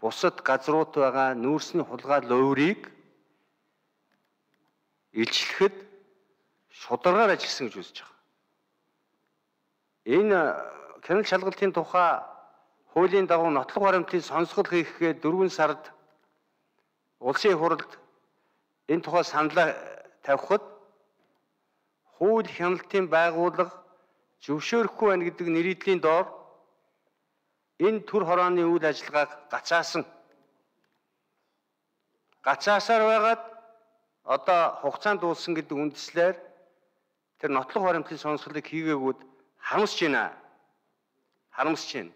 бусад газрууд байгаа нүүрсний хулгай ловрыг илчлэхэд шударгаар ажилласан гэж үзэж байгаа. Энэ хяналт шалгалтын тухай хуулийн дагуу нотлох баримтын сонсгол хийхэд 4 сард улсын хурлд энэ тухай саналаа тавихад хууль хяналтын байгууллага зөвшөөрөхгүй байна гэдэг нэрийдлийн доор энэ төр хорооны үйл ажиллагааг гацаасаар байгаад одоо хугацаанд дууссан гэдэг үндслээр тэр нотлох баримтын сонсголыг хийгээгүүд харамсаж байна.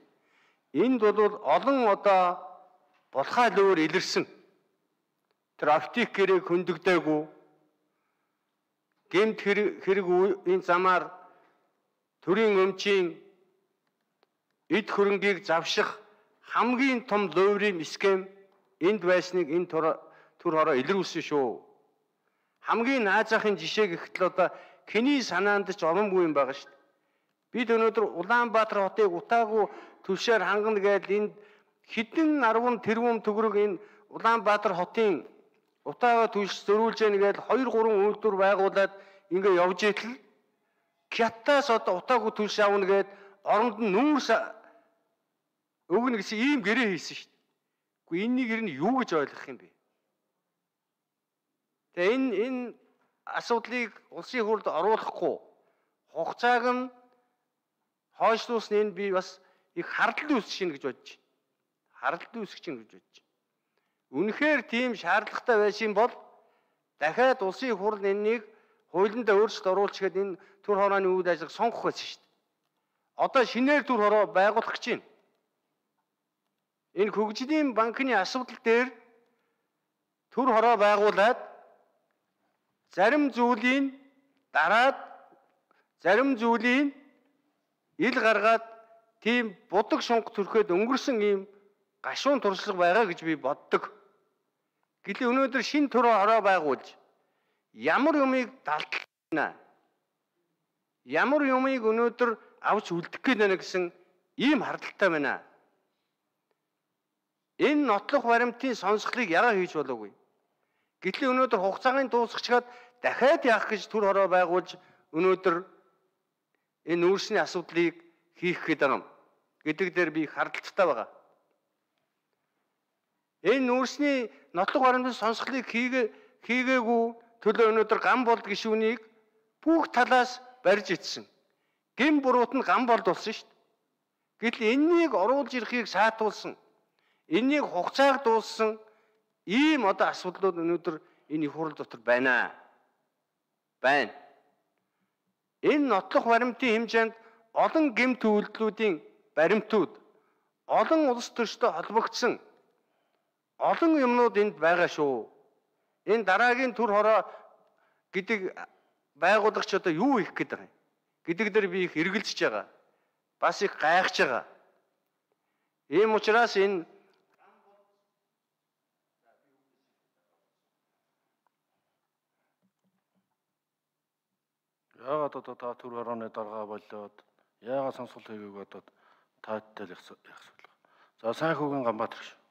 Энд бол олон одоо булхай лөөр илэрсэн тэр оптик гэрээг хөндөгдөөгүй гэмт хэрэг энэ замаар төрийн өмчийн эд хөрөнгийг завших хамгийн том ловрын схем энд байсныг энэ төр хороо илрүүлсэн шүү. Хамгийн наазахын жишээ гэхдээ одоо хэний санаанд ч оромгүй юм байгаа шүү дээ. Бид өнөөдөр Улаанбаатар хотыг утаагүй түлшээр хангана гэдэг энд хэдэн 10 тэрбум төгрөг энэ Улаанбаатар хотын утаагаа түлш зөрүүлж яана гэдэг 2-3 үйлдвэр байгуулад ингээ явж итэл Кятаас одоо утаагүй түлш авна гэдэг оронд нь нүүрс өгнө гэсэн ийм гэрээ хийсэн шүү дээ. Гэхдээ энэнийг ер нь юу гэж ойлгох юм бэ? Тэгээ энэ асуудлыг улсын хурлд оруулахгүй хугацааг нь хойшлуулсан энэ би бас их хардлагын үүсгэж гэж бодож байна. Үнэхээр тийм шаардлагатай байсан бол дахиад улсын хурл энэнийг хуулиндаа өөрчлөлт оруулж гээд энэ төр хорооны үйл ажиллагааг сонгох байсан шүү дээ. Одоо шинээр төр хороо байгуулах гэж байна. Энэ хөгжлийн банкны асуудал дээр төр хороо байгуулад зарим зүйлийн дараад зарим зүйлийн ил гаргаад тийм будаг шунг төрхөд өнгөрсөн ийм гашуун туршлага байгаа гэж би боддог. Гэтэл өнөөдөр шин төр хороо байгуулж ямар юмыг далдлана? Ямар юмыг өнөөдөр авч үлдэх гээд байна гэсэн ийм хардлагатай байна. Энэ нотлох баримтын сонсголыг яагаад хийж болоогүй? Гэтэл өнөөдөр хугацааны дуусчихад дахиад яах гэж төр хороо байгуулж өнөөдөр энэ нүүрсний асуудлыг хийх гээд байгаа юм гэдэг дээр би хардлагатай байгаа. Энэ нүүрсний нотлох баримтын сонсголыг хийгээгүй төлөө өнөөдөр ган болд гишүүнийг бүх талаас барьж итсэн. Гэм буруут нь ган болд болсон шүү дээ. Гэтэл энэнийг оруулж ирэхийг саатуулсан. Энэнийг хугацааг дууссан ийм одоо асуудлууд өнөөдөр энэ их хурл дотор байна. Энэ нотлох баримтын хэмжээнд олон гэмт үйлдэлүүдийн баримтууд, олон улс төрчтэй холбогдсон олон юмнууд энд байгаа шүү. Энэ дараагийн төр хороо гэдэг байгуулагч одоо юу хийх гээд байгаа юм гэдэг дээр би их эргэлзэж байгаа. Бас их гайхаж байгаа. Ийм учраас энэ яагаад одоо та төр хорооны дарга болоод яагаад сонсгол хийгээг одоо тааттай л яах вэ? За сайн хүүгийн Ганбаатар шүү.